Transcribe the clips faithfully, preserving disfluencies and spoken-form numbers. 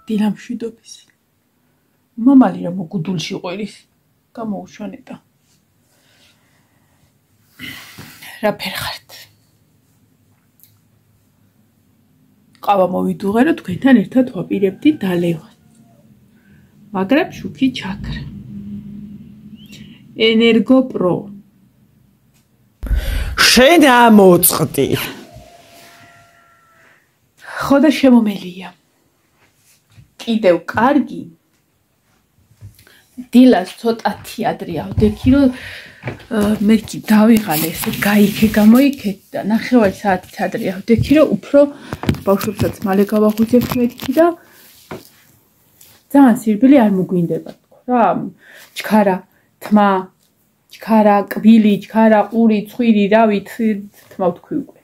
დილამშვიდობის. მამალი რა მოგუდულში ყვირის გამოუშვანეტა. რა ფერხართ? ყავა მოვიდუღერო თქვენთან ერთად ვაპირებდი დალევას. მაგრამ შუქი ჩაქრა. ენერგო პრო. შენ ამოწყდი. ხო და შემომელია. კიდევ კარგი. დილას ცოტათი ადრე ავდექი რომ მე კი დავიღალე ესე გაიქე გამოიქეთ და ნახევარი საათით ადრე ავდექი რომ უფრო ბავშვებსაც მალე გავაღვიძებთ მეთქი და ძალიან სირბილი არ მოგვინდება თქო რა ჩქარა თმა ჩქარა კვილი ჩქარა ყური ცხვირი რავი თმა ვთქვი უკვე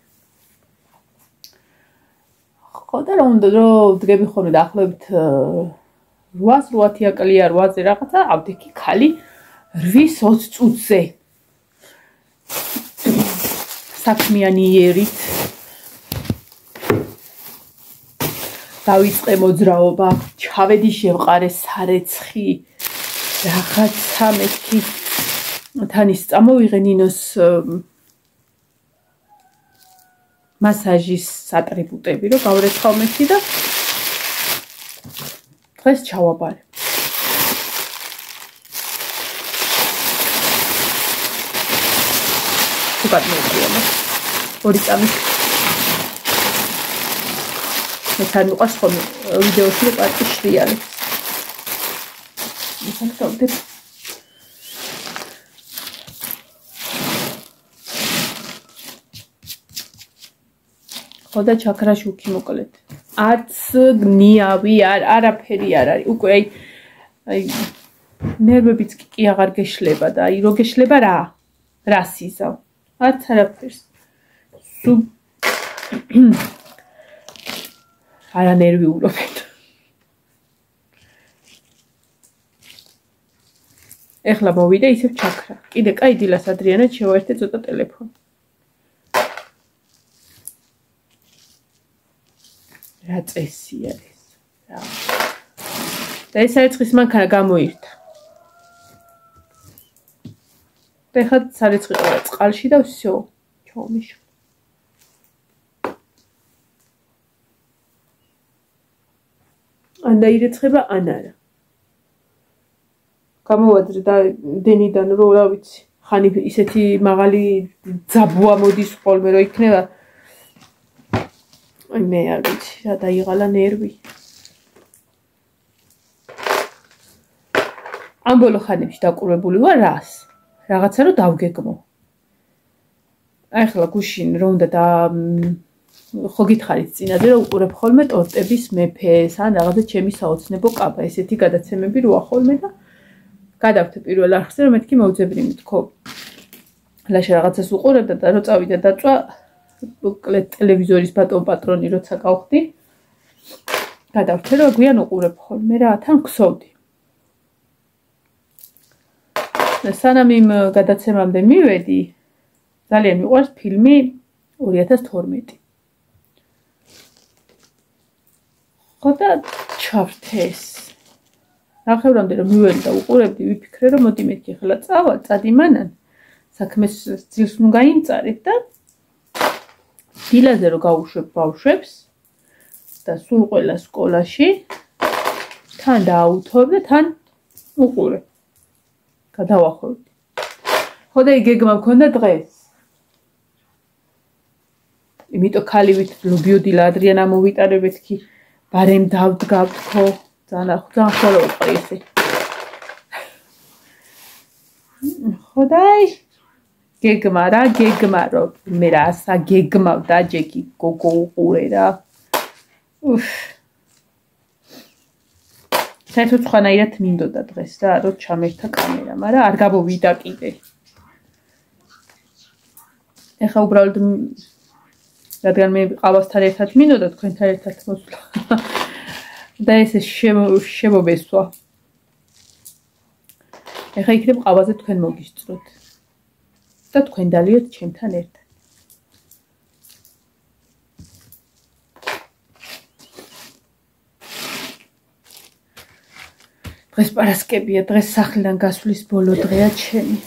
ხო და რა უნდა რომ დგები ხოლმე დაახლოებით რვას რვათი აკალია რვაზე რაღაცა ავდექი ხალი რვის ოცი წუთზე საქმიანი იერით დავიწყე მოძრაობა ჩავედი შევყარე სარეცხი რაღაცა მეთქი თანის წამოვიღე ნინოს მასაჟის ატრიბუტები რომ გავრეცხავ მეთქი და დღეს ჩავაბარე უკან მოვიდა ორი წამით მე თან მიყვარს ხოლმე ვიდეოში რომ პარტი შრიალებს ისახავდე ხოდა ჩაქრა შუქი მოკლედ არც ნიავი არ არაფერი არ არის უკვე აი აი ნერვებიც კი აღარ გეშლება და აი რო გეშლება რა რა სიზავ არც არაფერს სუ არა ნერვიულობენ ეხლა მოვიდა ისევ ჩაქრა კიდე კაი დილას ადრიანად შევაერთე ცოტა ტელეფონი რა წესია ეს რა და ეს საერცხის მანქანა გამოირთა და ეხლა საერცხი ყოლა წყალში და всё ჩაომიშ ან დაირეცხება ან არა გამოვადრე და დენიდან რო რა ვიცი ხანი ისეთი მაღალი ძაბუა მოდის ხოლმე რო იქნება აი მე არ ვიცი რა დაიღალა ნერვი ამ ბოლო ხანებში დაკურებული ვარ რას რაღაცა რომ დავგეგმო აი ხლა გუშინ რო უნდა და ხო გითხარით წინაზე რომ უყურებ ხოლმე ტორტების მეფეს ან რაღაცა ჩემი საოცნებო კაბა ესეთი გადაცემები როა ხოლმე და გადავთე პირველ არხზე რომ მეთქი მოვძებნი თქო ლაშა რაღაცას უყურებდა და რო წავიდა დაწვა მოკლედ ტელევიზორის ბატონ პატრონი როცა გავხდი გადავთე რომ გვიან უყურებ ხოლმე რა თან ქსოვდი და სანამ იმ გადაცემამდე მივედი ძალიან მიყვარს ფილმი ორი ათას თორმეტი ხოდა ჩავრთეს ნახევრამდე რომ მივედი და უყურებდი ვიფიქრე რომ მოდი მეთქი ახლა წავალ წადიმანან საქმეს ძილს ნუ გაიმწარებ და დილაზე რომ გავუშვებ ბავშვებს და სულ ყველა სკოლაში თან დააუთოვებ და თან უყურებ გადავახვევდი ხოდა იგეგმა მქონდა დღეს იმიტომ ქალივით ლობიოდი ადრიან ამოვიტარებეთ კი ბარემ დავდგავ თქო ძალიან ძალიან ხოლო ვიყრი ესე ხოდაი გეგმა რა გეგმა რომ მე რა ასა გეგმავ და ჯეკი გოგო უყურე რა უფ საერთოდ ხანაირად მინდოდა დღეს რა რომ ჩამერთა კამერა მაგრამ არ გამოვიდა კიდე ეხა უბრალოდ რადგან მე ყავასთან ერთად მინდოდა თქვენთან ერთად მოსვლა და ესე შემობესვა ეხა იქნებ ყავაზე თქვენ მოგისწროთ და თქვენ დალიოთ ჩემთან ერთად დღეს პარასკევია, დღეს სახლიდან გასვლის ბოლო დღეა ჩემი.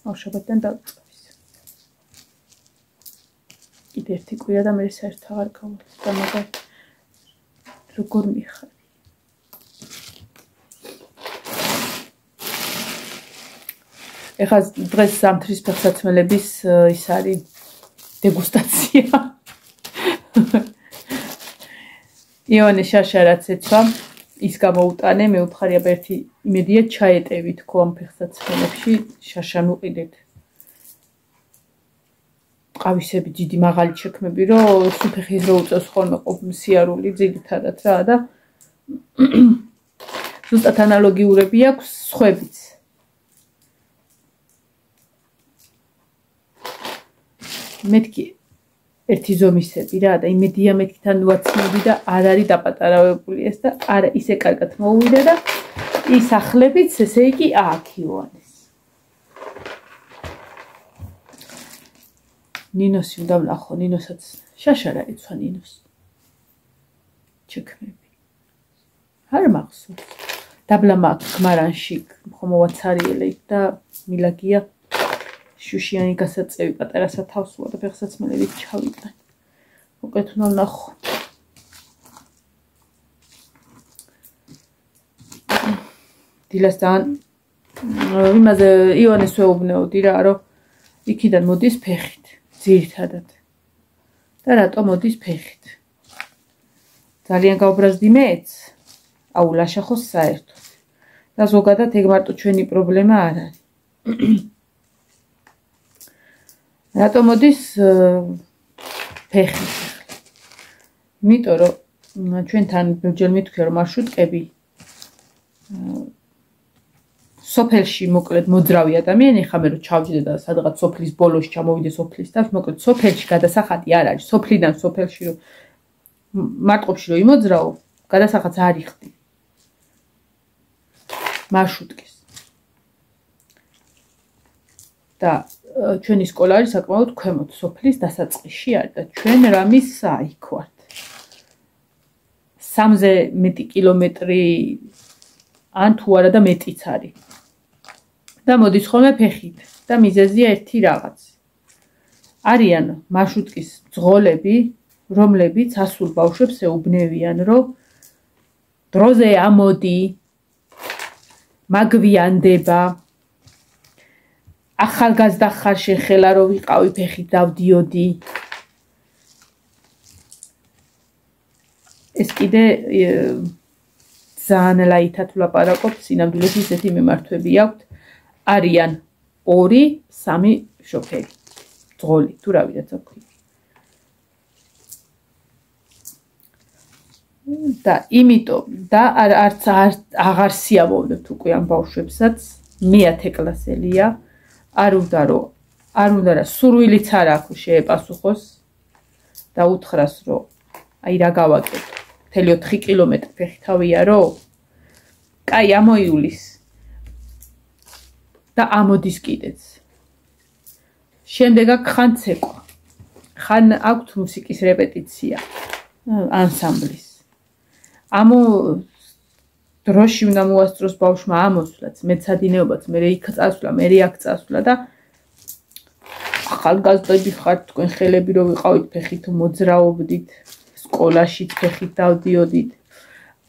აუ შაბათიდან დავწყვის. კიდე ერთი კვირა და მე საერთოდ აღარ გავუძლებ და მაგარ როგორ მიხარ. ეხლა დღეს ზამთრის ფეხსაცმელების ის არის დეგუსტაცია. იონე შაშა რაც ეცვა ის გამოუტანე, მე უთხარია ერთი იმედია ჩაეტევით ხო ამ ფეხსაცმელებში, შაშა მუყიდეთ. ყავისები დიდი მაღალი შექმები, რომ სუფეხის რო უწევს ხოლმე სიარული ძირითადად რა და ზუსტად ანალოგიურები აქვს სხვებიც. მეთქი ერთი ზომისები რა და იმედია მეთქთან ვაცნობი და არ არის დაპატარავებული ეს და არა ისე კარგად მოუვიდა და ის ახლებიც ესე იგი აქ ივანეს. ნინოსი უნდა ვნახო, ნინოსაც შაშა რა იცვა ნინოს. ჩექმები. არ მახსოვს. დაბლა მაქვს გმარანში ხომ მოვაცარიელე და მილაგია შუშიანი გასაწევი პატარა სათავსოა და ფეხსაცმელებით ჩავიტან. უკეთ უნდა ვნახო. დილასთან იმაზე იონეს ვეუბნეოდი რა, რომ იქიდან მოდის ფეხით, ძირითადად. და რატო მოდის ფეხით? ძალიან გაუბრაზდი მეც, აუ ლაშახოს საერთოდ. და ზოგადად ეგ მარტო ჩვენი პრობლემა არ არის. რატო მოდის ფეხით? იმიტომ რომ ჩვენთან ბევრჯერ მithქვია რომ მარშრუტკები სოფელში მოკლედ მოძრავი ადამიანი, ხა მე რო ჩავჯდე და სადღაც სოფლის ბოლოში ჩამოვიდე სოფლის და მოკლედ სოფელში გადასახადი არ არის. სოფლიდან სოფელში რომ მარტყოფში რომ იმოძრავო, გადასახადს არ იხდი. მარშრუტკის. და ჩვენი სკოლა არის საკმაოდ ქვემოთ სოფლის დასაწყისში არის და ჩვენ რამის იქ ვართ. სამზე მეტი კილომეტრი ან თუ არა და მეტიც არის. და მოდის ხოლმე ფეხით და მიზეზია ერთი რაღაც. არიან მარშრუტკის ძღოლები, რომლებიც ასულ ბავშვებს ეუბნევიან, რომ დროზე ამოდი, მაგვიანდება, ახალგაზრდა ხარ შენ ხელა რო ვიყავი ფეხით დავდიოდი. ეს კიდე ძალიან ლაითად ვლაპარაკობ, სინამდვილეში ისეთი მიმართვები აქვთ. არიან ორი, სამი შოფერი. ძღოლი, თუ რა ვიდაც აქვთ. და იმიტომ და არც აღარ სიამოვნებთ უკვე ამ ბავშვებსაც, მეათე კლასელია. არ უნდა რომ არ უნდა რა სურვილიც არ აქვს შეეპასუხოს და უთხრას რომ აი რა გავაკეთო მთელი ოთხი კილომეტრი ფეხთავია რომ კაი ამოიulis და ამოდის კიდეც შემდეგ აქ ხან ცეკვა ხან აქვთ მუსიკის რეპეტიცია ანსამბლის ამო დროში უნდა მოასწროს ბავშვმა ამოსვლაც, მეცადინეობაც, მე იქ წასვლა, მე აქ წასვლა და ახალგაზრდები ხართ თქვენ ხელები რო ვიყავით ფეხით მოძრაობდით, სკოლაშიც ფეხით დავდიოდით.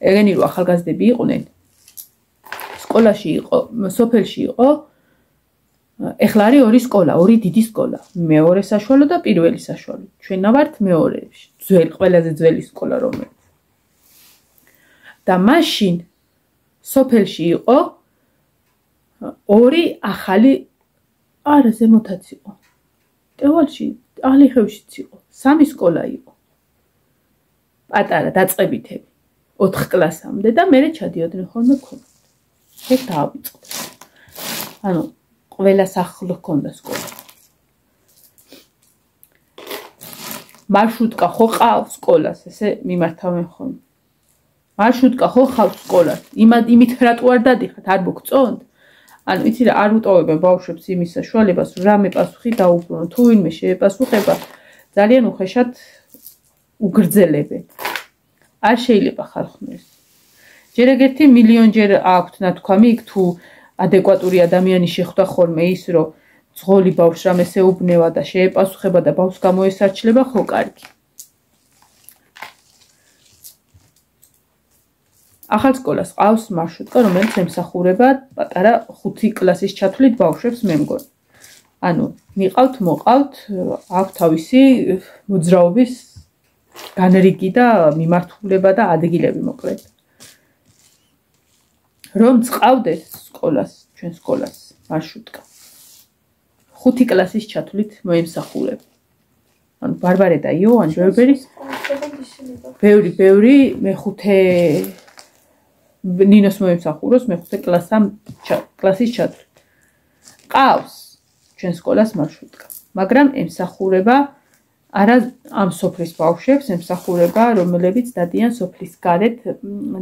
ეგენი რო ახალგაზრდები იყვნენ. სკოლაში იყო, სოფელში იყო. ეხლა არის ორი სკოლა, ორი დიდი სკოლა. მეორე საშუალო და პირველი საშუალო. ჩვენ ვართ მეორეში. ძველი, ყველაზე ძველი სკოლა რომელიც. და მაშინ სოფელში იყო ორი ახალი არა ზემოთაც იყო. ტევალში, ალიხევშიც იყო. სამი სკოლა იყო. პატარა დაწყებითები. ოთხ კლასამდე და მერე ჩადიოდნენ ხოლმე ქონდა. ეგ დაავიწყდა. ანუ ყველა სახლ ჰქონდა სკოლა. მარშრუტკა ხო ყავს სკოლას, ესე მიმართავენ ხოლმე. მარშრუტკა ხო ხავს სკოლას? იმით რატო არ დადიხართ, არ მოგწონთ? ანუ იცი რა, არ უტოვებენ ბავშვებს იმის საშუალებას, რომ რამე პასუხი დაუბრუნონ. თუ ვინმე შეეპასუხება, ძალიან უხეშად უგრძელებენ. არ შეიძლება ხარხმეს. ჯერ ეგერთი მილიონჯერ აქვთ ნათქვამი, იქ თუ ადეკვატური ადამიანი შეხვდა ხოლმე ის, რომ ძღოლი ბავშვს რამეს ეუბნება და შეეპასუხება და ბავშვს გამოესარჩლება, ხო კარგი. ახალ სკოლას ყავს მარშრუტკა, რომელიც ემსახურება პატარა ხუთი კლასის ჩათვლით ბავშვებს, მე მგონი. ანუ მიყავთ, მოყავთ, აქვს თავისი მოძრაობის განრიგი და მიმართულება და ადგილები მოკლედ. რომ წყავდეს სკოლას, ჩვენ სკოლას მარშრუტკა. ხუთი კლასის ჩათვლით მოემსახურება. ანუ ბარბარე და იოან ბერბერის ბევრი, ბევრი მეხუთე ნინოს მოემსახუროს მეხუთე კლასის ჩათვლით. ყავს ჩვენ სკოლას მარშრუტკა, მაგრამ ემსახურება არა ამ სოფლის ბავშვებს, ემსახურება რომლებიც დადიან სოფლის გარეთ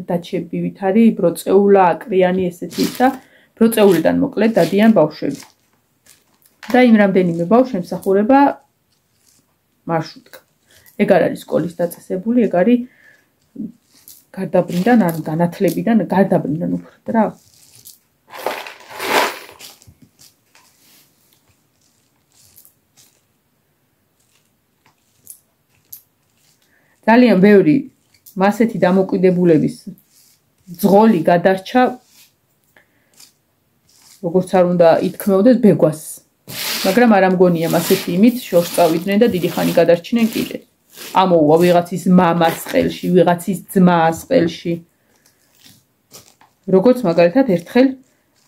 დაჩებივით არის ბროწეულა, აკრიანი ესეთი ისა, ბროწეულიდან მოკლედ დადიან ბავშვები. და იმ რამდენიმე ბავშვს ემსახურება მარშრუტკა. ეგ არ არის სკოლის დაწესებული, ეგ არის გარდაბრიდან, ან განათლებიდან, გარდაბრიდან უფრო რა. ძალიან ბევრი მასეთი დამოკიდებულების ძღოლი გადარჩა, როგორც არ უნდა ითქმევდეს ბეგვას. მაგრამ არ ამგონია მასეთი იმით შორს წავიდნენ და დიდი ხანი გადარჩნენ კიდე. ამოუვა ვიღაცის მამას ყელში, ვიღაცის ძმას ყელში. როგორც მაგალითად ერთხელ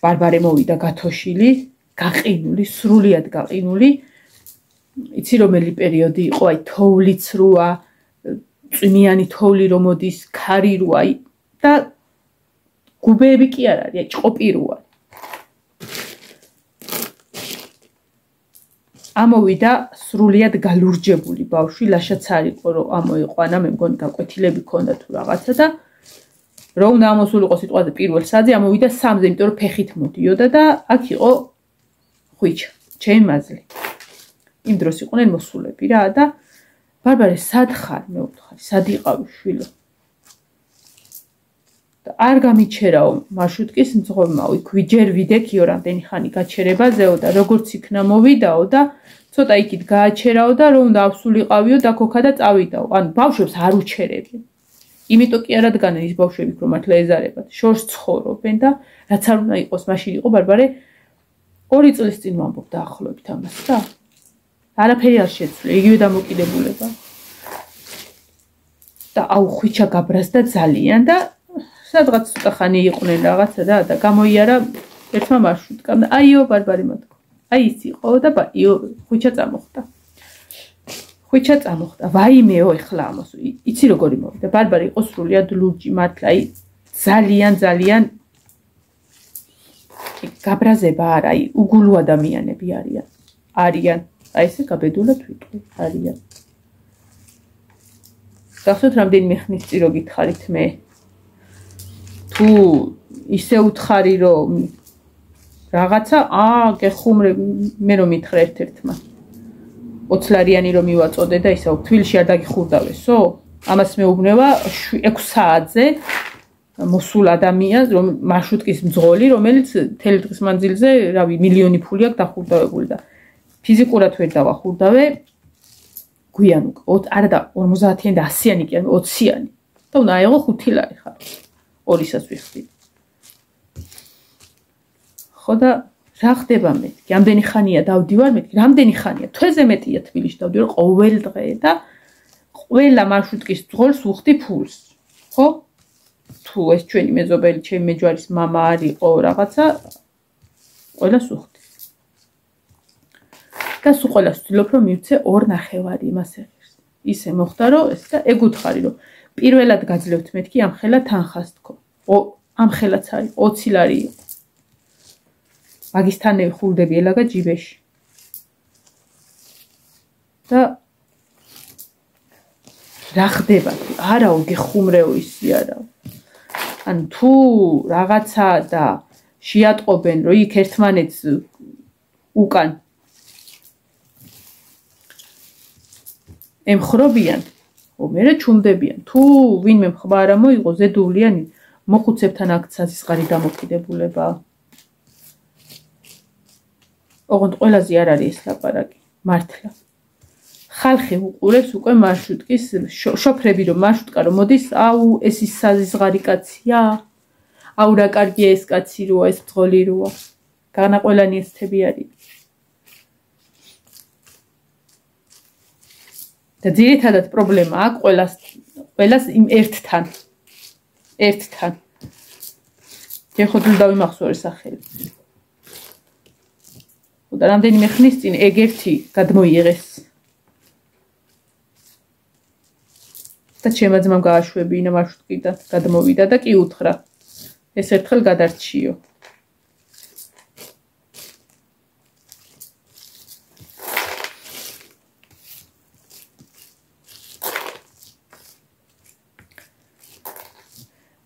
ბარბარე მოვიდა გათოშილი, გაყინული, სრულიად გაყინული. იცი რომელი პერიოდი იყო, აი თოვლიც როა, წვიმიანი თოვლი რომ მოდის, ქარი როა და გუბეები კი არ არის, აი ჭყოპი როა. ამოვიდა სრულიად გალურჯებული ბავშვი, ლაშაც არ იყო რომ ამოიყვანა, მე მგონი გაკვეთილები ქონდა თუ რაღაცა და რომ უნდა ამოსულიყო სიტყვაზე პირველ საძე, ამოვიდა სამზე, იმიტომ რომ ფეხით მოდიოდა და აქ იყო ხვიჩა, ჩემი მაზლი. იმ დროს იყვნენ მოსულები რა და ბარბარე, სად ხარ? მე ვთქვი, სად იყავი შვილო? და არ გამიჩერაო მარშრუტკის მძღოლმა, იქვი ჯერ ვიდექიო რამდენი ხანი გაჩერებაზეო და როგორც იქნა მოვიდაო და ცოტა იქით გააჩერაო და რომ უნდა ავსულიყავიო და ქოქა და წავიდაო. ანუ ბავშვებს არ უჩერებენ. იმიტომ კი არ ადგანენ ის ბავშვები, რომ მართლა ეზარებათ, შორს ცხოვრობენ და რაც არ უნდა იყოს, მაშინ იყო ბარბარე ორი წლის წინ ვამბობ დაახლოებით ამას და არაფერი არ შეცვლე, იგივე დამოკიდებულება. და აუ ხვიჩა გაბრაზდა ძალიან და სადღაც ცოტა ხანი იყვნენ რაღაცა და და გამოიარა ერთმა მარშრუტკამ და აიო ბარბარე მათქო. აი ის იყო და იო ხვიჩა წამოხდა. ხვიჩა წამოხდა. ვაიმეო ეხლა ამას. იცი როგორი მოვიდა. ბარბარე იყო სრულიად ლურჯი მართლა, აი ძალიან ძალიან გაბრაზება არა, აი უგულო ადამიანები არიან. არიან. აი ესე გაბედულად ვიტყვი, არიან. გახსოვთ რამდენიმე ხნის წინ რო გითხარით მე თუ ისე უთხარი რომ რაღაცა აა გეხუმრე მე რომ მითხრა ერთ-ერთმა ოცლარიანი რომ მივაწოდე და ისე თბილისში არ დაგიხურდავესო ამას მეუბნება ექვსი საათზე მოსულ ადამიანს რომ მარშრუტკის მძღოლი რომელიც მთელი დღის მანძილზე რავი მილიონი ფული აქვს დახურდავებული და ფიზიკურად ვერ დავახურდავე გვიან უკვე არა და ორმოცდაათიანი და ასიანი კი ან ოციანი და უნდა აიღო ხუთი ლარი ხარ ორისას ვიხდი ხო და რა ხდება მეთქი ამდენი ხანია დავდივარ მეთქი რამდენი ხანია თვეზე მეტია თბილისში დავდივარ ყოველ დღე და ყველა მარშრუტკის მძღოლს ვუხდი ფულს ხო თუ ეს ჩვენი მეზობელი ჩემი მეჯვარის მამა არისო რაღაცა ყველას ვუხდი და სულ ყველას ვცდილობ რომ მივცე ორ ნახევარი იმას ეღირს ისე მოხდა რომ ეს და ეგ უთხარი რომ პირველად გაძლევთ მეთქი ამ ხელა თანხას თქო ამ ხელაც არის ოცი ლარი იყო მაგისთანები ხურდები ელაგა ჯიბეში და რა ხდება არაო გეხუმრეო ისი არა ან თუ რაღაცა და შეატყობენ რომ იქ ერთმანეთს უკან ემხრობიან ო მე რა ჩუმდებიან თუ ვინმე მხბარა მოიღო ზედულიანი მოხუცებთან აქ საზისხარი დამოკიდებულება. ოღონდ ყველაზე არ არის ეს ლაპარაკი, მართლა. ხალხი უყურებს უკვე მარშრუტკის შოფრები რომ მარშრუტკა რომ მოდის, აუ ეს ის საზისხარი კაცია, აუ რა კარგია ეს კაცი როა, ეს ბრძოლი როა. განაყოლანი ესთები არის. და ძირითადად პრობლემა აქვს ყველას ყველას იმ ერთთან. ერთთან. ეხოდლ დავიმახსოვრე სახელი. და რამდენიმე ხნის წინ ეგ ერთი გადმოიღეს. და ჩემმა ძმამ გააშვებინა მარშრუტკიდან, გადმოვიდა და კი უთხრა. ეს ერთხელ გადარჩიო.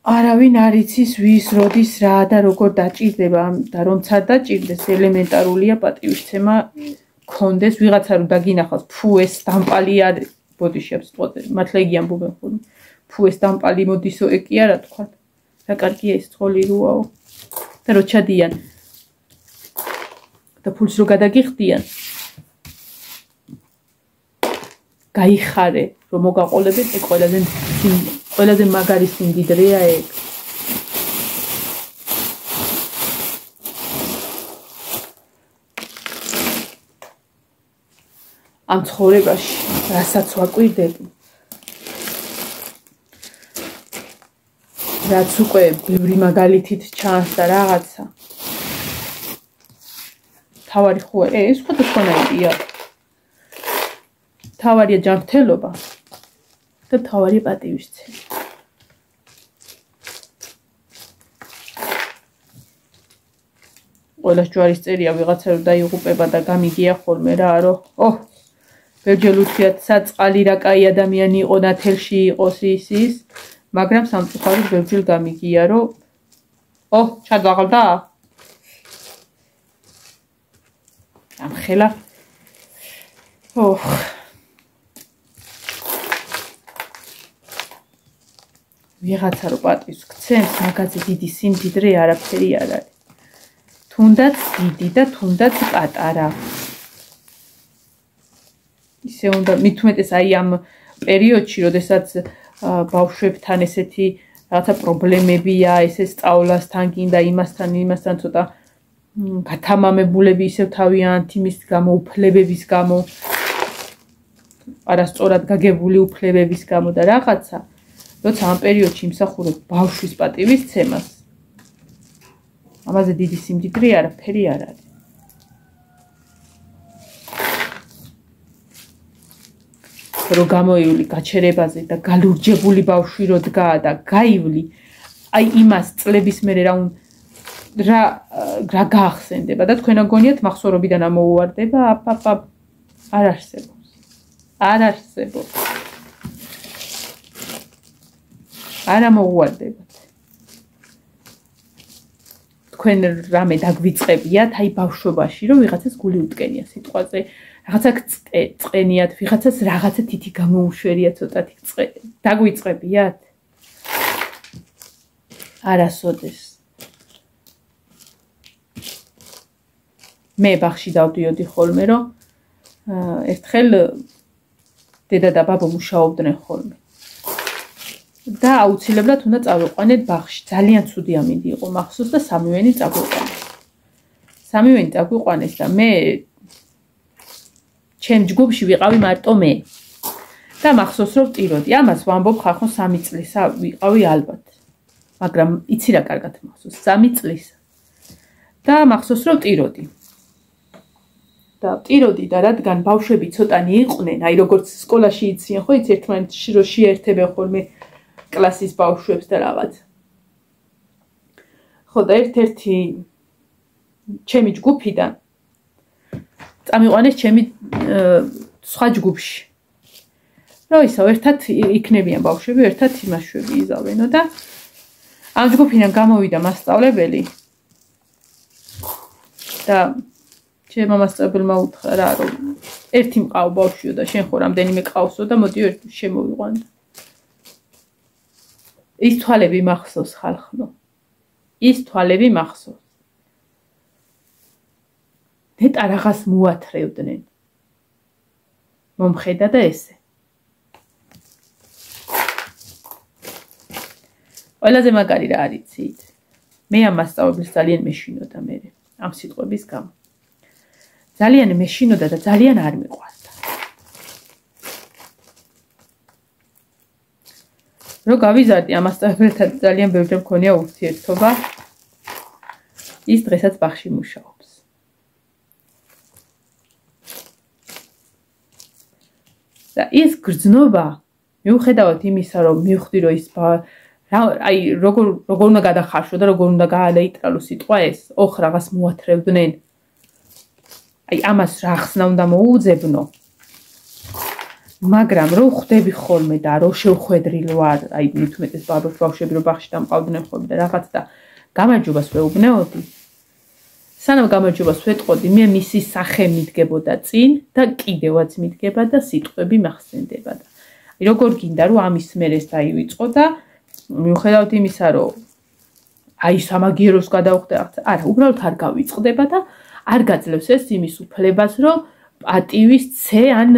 არავინ არ იცის ვის როდის რა და როგორ დაჭირდება და რომცა დაჭირდეს ელემენტარულია პატივისცემა კონდეს ვიღაცა რომ დაგინახავს ფუ ეს დამპალი არის ბოდიშებს წოდე მართლა იგი ამბობენ ხოლმე ფუ ეს დამპალი მოდისო ეკი არა თქვა რა კარგია ეს ცოლი როაო და რო ჩადიან და ფულს რო გადაგიხდიან გაიხარე რომ მოგაყოლებენ ეგ ყველაზე ყველაზე მაგარი სიმდიდრეა ეგ. ამ ცხოვრებაში, რასაც ვაკვირდები, რაც უკვე ბევრი მაგალითით ჩანს და რაღაცა. თავარი ხო, ეს სხვადასხვანაირია. თავარია ჯანმრთელობა და თავარია პატივისცემა. ყველას ჯვარის წერია ვიღაცა რომ დაიღუპება და გამიგია ხოლმე რა რომ ოჰ ბევრჯერ უთხრიათ საწყალი რა კაი ადამიანი იყო ნათელში იყოს ის ის მაგრამ სამწუხაროდ ბევრჯერ გამიგია რომ ოჰ ჩადაღლდა ამხელა ოჰ ვიღაცა რომ პატივს გცემს მაგაზე დიდი სიმდიდრე არაფერი არ არის თუნდაც დიდი და თუნდაც პატარა. ისე უნდა მithumetes აი ამ პერიოდში, როდესაც ბავშვებთან ესეთი რაღაცა პრობლემებია, ესე სწავლასთან გინდა იმასთან, იმასთან ცოტა გათამამებულები ისევ თავიანთ იმის გამო, უფლებების გამო, არასწორად გაგებული უფლებების გამო და რაღაცა, როცა ამ პერიოდში იმსახურებ ბავშვის პატივისცემას ამაზე დიდი სიმდიდრე არაფერი არ არის. რო გამოივლი გაჩერებაზე და გალურჯებული ბავშვი რო დგაა და გაივლი, აი იმას წლების მერე რა რა რა გაახსენდება და თქვენ აგონიათ მახსოვრობიდან ამოუვარდება, აპაპა არ არსებობს. არ არსებობს. არ ამოუვარდება. თქვენ რამე დაგვიწყებიათ აი ბავშვობაში რომ ვიღაცას გული უტკენია სიტყვაზე რაღაცა წყენიათ ვიღაცას რაღაცა თითი გამოუშვერია ცოტათი დაგვიწყებიათ არასოდეს მე ბაღში დავდიოდი ხოლმე რომ ერთხელ დედა და ბაბა მუშაობდნენ ხოლმე და აუცილებლად უნდა წავიყვანეთ ბაღში. ძალიან ცუდი ამინდი იყო მახსოვს და სამივენი წაგვიყვანეს. სამივენი წაგვიყვანეს და მე ჩემ ჯგუფში ვიყავი მარტო მე. და მახსოვს რომ ვტიროდი. ამას ვამბობ ხახო სამი წლისა ვიყავი ალბათ. მაგრამ იცი რა კარგად მახსოვს სამი წლისა. და მახსოვს რომ ვტიროდი. და ვტიროდი და რადგან ბავშვები ცოტანი იყვნენ, აი როგორც სკოლაში იციან ხო, იცი ერთმანეთში რო შეერთებენ ხოლმე კლასის ბავშვებს და რაღაც. ხო და ერთ-ერთი ჩემი ჯგუფიდან წამიყვანეს ჩემი სხვა ჯგუფში. რომ ისო ერთად იქნებიან ბავშვები, ერთად იმაშვები იზავენო და ამ ჯგუფიდან გამოვიდა მასწავლებელი და ჩემმა მასწავლებელმა უთხრა რა რომ ერთი მყავ ბავშვიო და შენ ხო რამდენიმე ყავსო და მოდიო ერთ შემოვიყვანო. ის თვალები მახსოვს ხალხო. ის თვალები მახსოვს. ნეტა რაღაც მოათრევდნენ. მომხედა და ესე. ყველაზე მაგარი რა არიცით? მე ამ მასწავლებელს ძალიან მეშინოდა მე ამ სიტყვების გამო. ძალიან მეშინოდა და ძალიან არ მიყვარდა. რო გავიზარდი ამ მასწავლებელთან ძალიან ბევრი მქონია ურთიერთობა. ის დღესაც ბაღში მუშაობს. და ის გრძნობა მიუხედავად იმისა, რომ მივხვდი, რომ ის აი როგორ როგორ უნდა გადახარშო და როგორ უნდა გაალეიტრალო სიტყვა ეს, ოხ რაღაც მოათრევდნენ. აი ამას რა ხსნა უნდა მოუძებნო. მაგრამ რო ხვდები ხოლმე და რო შევხვედრილ ვარ, აი მით უმეტეს ბავშვები რო ბაღში დამყავდნენ ხოლმე და რაღაც და გამარჯობას ვეუბნეოდი. სანამ გამარჯობას ვეტყოდი, მე მისი სახე მიდგებოდა წინ და კიდევაც მიდგება და სიტყვები მახსენდება და აი როგორ გინდა რომ ამის მერეს დაივიწყო და მიუხედავად იმისა, რომ აი სამაგიეროს გადავხდა, არა, უბრალოდ არ გავიწყდება და არ გაძლევს ეს იმის უფლებას, რომ პატივის ცე ან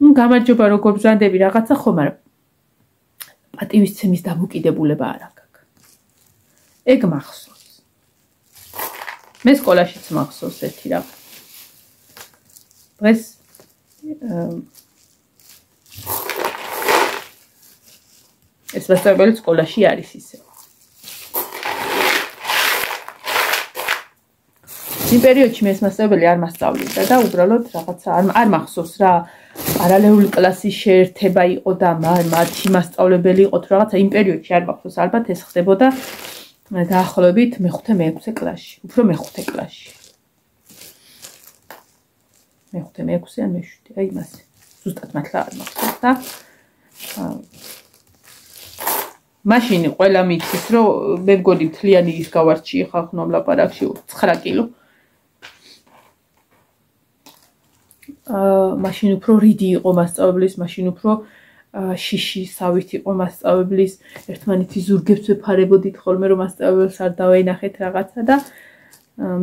გამარჯობა როგორ ბრძანდები რაღაცა ხო, მაგრამ პატივის ცემის დამოკიდებულება არ აქვს. ეგ მახსოვს. მე სკოლაშიც მახსოვს ერთი რაღაც. დღეს ეს მასწავლებელი სკოლაში არის ისე. იმ პერიოდში მე ეს მასწავლებელი არ მასწავლიდა და უბრალოდ რაღაცა არ არ მახსოვს რა პარალელური კლასის შეერთება იყო და მათი მასწავლებელი იყო თუ რაღაცა იმ პერიოდში არ მახსოვს, ალბათ ეს ხდებოდა დაახლოებით მეხუთე მეექვსე კლასში, უფრო მეხუთე კლასში. მეხუთე მეექვსე ან მეშვიდე, აი მასე. ზუსტად მართლა არ მახსოვს და მაშინ ყველა მითხრის, რომ მე მგონი მთლიანი ის გავარჩი ხალხო ამ ლაპარაკში ცხრა კილო. აა მაშინ უფრო რიდი იყო მასწავლებლის, მაშინ უფრო შიში სავით იყო მასწავლებლის, ერთმანეთის ზურგებს ვეფარებოდით ხოლმე რომ მასწავლებელს არ დავაინახეთ რაღაცა და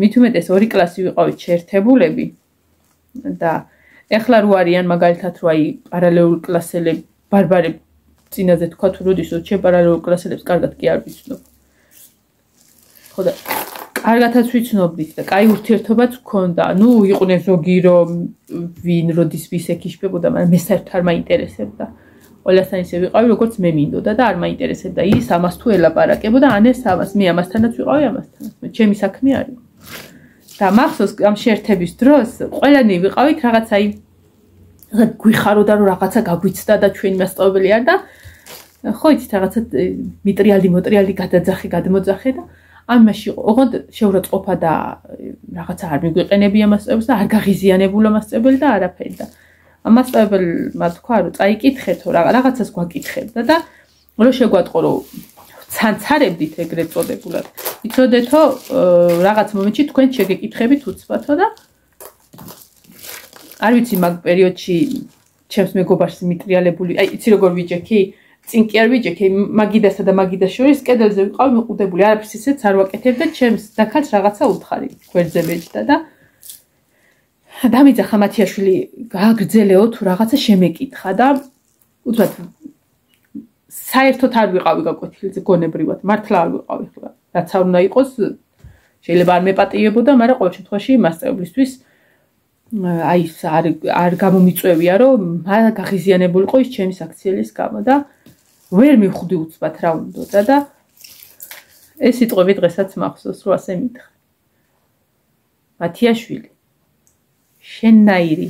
მით უმეტეს ორი კლასი ვიყავით შეერთებულები და ეხლა რო არიან მაგალითად რო აი პარალელურ კლასელები ბარბარები წინაზე თქვა თუ როდისო ჩემ პარალელურ კლასელებს კარგად კი არ ვიცნობ. ხო და კარგათაც ვიცნობდით და კაი ურთიერთობაც გქონდა. ნუ იყვნენ ზოგი რომ ვინ როდის ვის ეკიშებოდა, მაგრამ მე საერთოდ არ მაინტერესებდა. ყველასთან ისე ვიყავი, როგორც მე მინდოდა და არ მაინტერესებდა ის ამას თუ ელაპარაკებოდა, ან ეს ამას. მე ამასთანაც ვიყავი, ამასთანაც. მე ჩემი საქმე არ იყო. და მახსოვს ამ შეერთების დროს ყველანი ვიყავით რაღაც აი გვიხაროდა რომ რაღაცა გაგვიცდა და ჩვენი მასწავლებელი არ და ხო იცით რაღაცა მიტრიალდი მოტრიალდი გადაძახე გადმოძახე და ამაში ოღონდ შეურაცხყოფა და რაღაცა არ მიგვიყენებია მასწავლებელს და არ გაღიზიანებულა მასწავლებელი და არაფერი და მასწავლებელმა თქვა რომ წაიკითხეთო რაღაცას გვაკითხებდა და რო შეგვატყო რომ ცანცარებდით ეგრეთ წოდებულად იცოდეთო რაღაც მომენტში თქვენ შეგეკითხებით უცბათო და არ ვიცი მაგ პერიოდში ჩემს მეგობარს მიტრიალებული აი იცი როგორ ვიჯექი წინ კი არ ვიჯექი მაგიდასა და მაგიდას შორის კედელზე ვიყავი მიყუდებული არაფერს ისეც არ ვაკეთებ და ჩემს დაქალს რაღაცა უთხარი გვერდზე მეჯდა და დამიძახა მათიაშვილი გააგრძელეო თუ რაღაცა შემეკითხა და უცბად საერთოდ არ ვიყავი გაკვეთილზე გონებრივად მართლა არ ვიყავი ხლა რაც არ უნდა იყოს შეიძლება არ მეპატიებოდა მაგრამ ყოველ შემთხვევაში მასწავლებლისთვის აი არ არ გამომიწევია რომ გაღიზიანებულიყო ის ჩემი საქციელის გამო და ვერ მივხვდი უცბად რა უნდოდა და ეს სიტყვები დღესაც მახსოვს რომ ასე მითხრა მათიაშვილი შენნაირი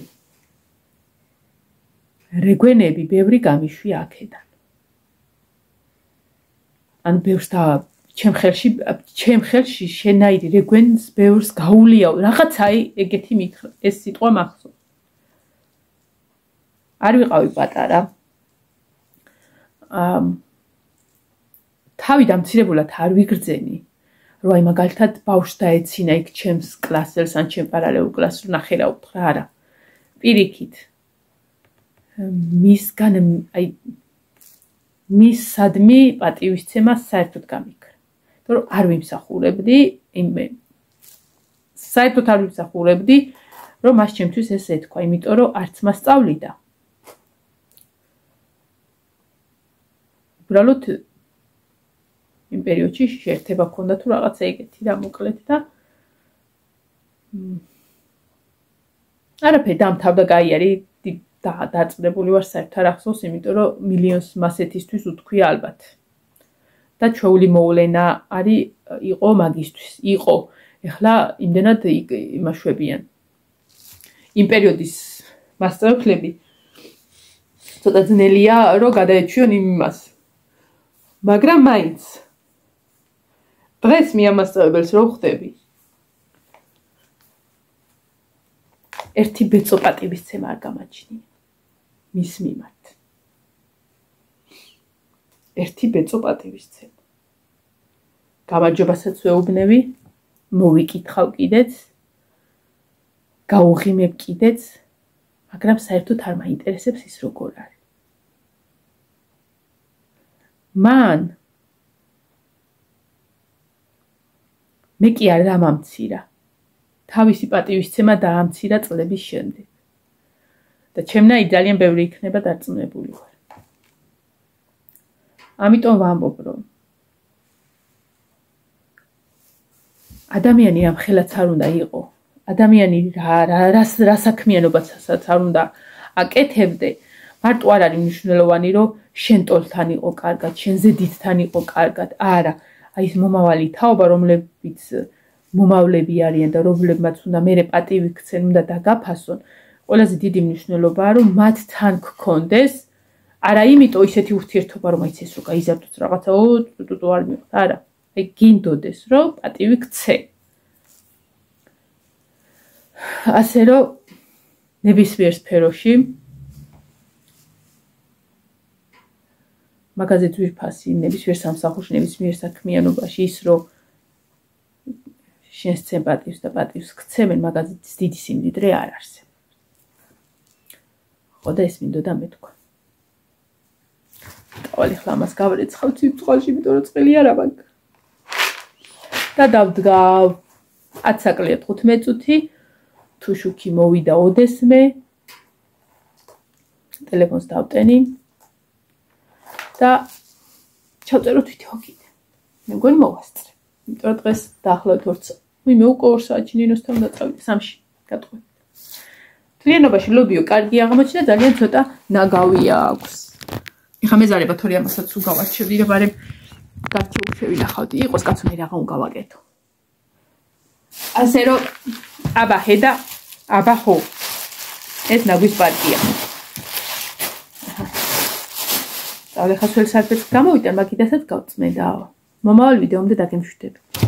რეგვენები ბევრი გამიშვი აქედან ან ბევრს და ჩემ ხელში ჩემ ხელში შენნაირი რეგვენს ბევრს გაულიაო რაღაცაი ეგეთი მითხრა ეს სიტყვა მახსოვს არ ვიყავი პატარა აა თავი დამცირებულად არ ვიგრძენი რომ აი მაგალითად ბავშვს დაეცინა იქ ჩემს კლასელს ან ჩემ პარალელურ კლასს ნახე რა უთხრა არა პირიქით მისგან აი მის სადმი პატივისცემა საერთოდ გამიქრა. იმიტომ რომ არ ვიმსახურებდი, იმე საერთოდ არ ვიმსახურებდი, რომ მას ჩემთვის ეს ეთქვა, იმიტომ რომ არც მასწავლიდა. უბრალოდ იმ პერიოდში შეერთება ქონდა თუ რაღაცა ეგეთი რა მოკლედ და არაფერი დამთავრდა გაიარი და დაწნებული ვარ საერთოდ არ ახსოვს, იმიტომ რომ მილიონს მასეთისთვის უთქვია ალბათ. და ჩვეული მოვლენა არის იყო მაგისთვის, იყო. ეხლა იმდენად იმაშვებიან. იმ პერიოდის მასწავლებლები ცოტა ძნელია რომ გადაეჩვიონ იმას. მაგრამ მაინც დღეს მე ამ მასწავლებელს რო ხვდები ერთი ბეწო პატივისცემა არ გამაჩნია მის მიმართ. ერთი ბეწო პატივისცემა. გამარჯობასაც ვეუბნები, მოვიკითხავ კიდეც, გაუღიმებ კიდეც, მაგრამ საერთოდ არ მაინტერესებს ის როგორ არის. მან მე კი არ დამამცირა. თავისი პატივისცემა დაამცირა წლების შემდეგ. და ჩემნაირ ძალიან ბევრი იქნება დარწმუნებული ვარ. ამიტომ ვამბობ, რომ ადამიანი ამ ხელაც არ უნდა იყო. ადამიანი რა რა რა საქმიანობასაც არ უნდა აკეთებდე. მარტო არ არის მნიშვნელოვანი, რომ შენ ტოლთან იყო კარგად, შენ ზედითთან იყო კარგად. არა, აი ეს მომავალი თაობა, რომლებიც მომავლები არიან და რომლებმაც უნდა მერე პატივი ქცენ, უნდა დაგაფასონ. ყველაზე დიდი მნიშვნელობაა, რომ მათ თან გქონდეს, არა იმიტომ ისეთი ურთიერთობა, რომ აიც ეს რო გაიზარდოს რაღაცა, ო ტუტუ არ მიყოთ, არა. აი გინდოდეს, რომ პატივი ქცე. ასე რომ ნებისმიერ სფეროში მაგაზე ძვირფასი, ნებისმიერ სამსახურში, ნებისმიერ საქმიანობაში ის რომ შენს ცემ პატივს და პატივს ქცემენ, მაგაზე დიდი სიმდიდრე არ არსებობს. ხო და ეს მინდოდა მეთქვა. ყოველი ხლა მას გავარეცხავ ციფრში, იმიტომ რომ წელი არა მაქვს. და დავდგა ათი საკლია თხუთმეტი წუთი, თუ შუქი მოვიდა ოდესმე, ტელეფონს დავტენი და ჩავწეროთ ვიდეო კიდე. მე მგონი მოვასწრე. იმიტომ რომ დღეს დაახლოებით ორ ვიმე უკვე ორ საათში ნინოსთან უნდა წავიდე, სამში გატყვი. მთლიანობაში ლობიო კარგი აღმოჩნდა, ძალიან ცოტა ნაგავია აქვს. ეხლა მეზარება თორე ამასაც უგავარჩევდი, რომ ბარემ გარჩეულ შევინახავდი, იყოს კაცო მე რაღა უგავაკეთო. ასე რომ აბა ჰედა, აბა ხო. ეს ნაგვის პარტია. და ახლა სულ საერთოდ გამოვიდა, მაგიდასაც გავწმენდა. მომავალ ვიდეომდე დაგემშვიდები.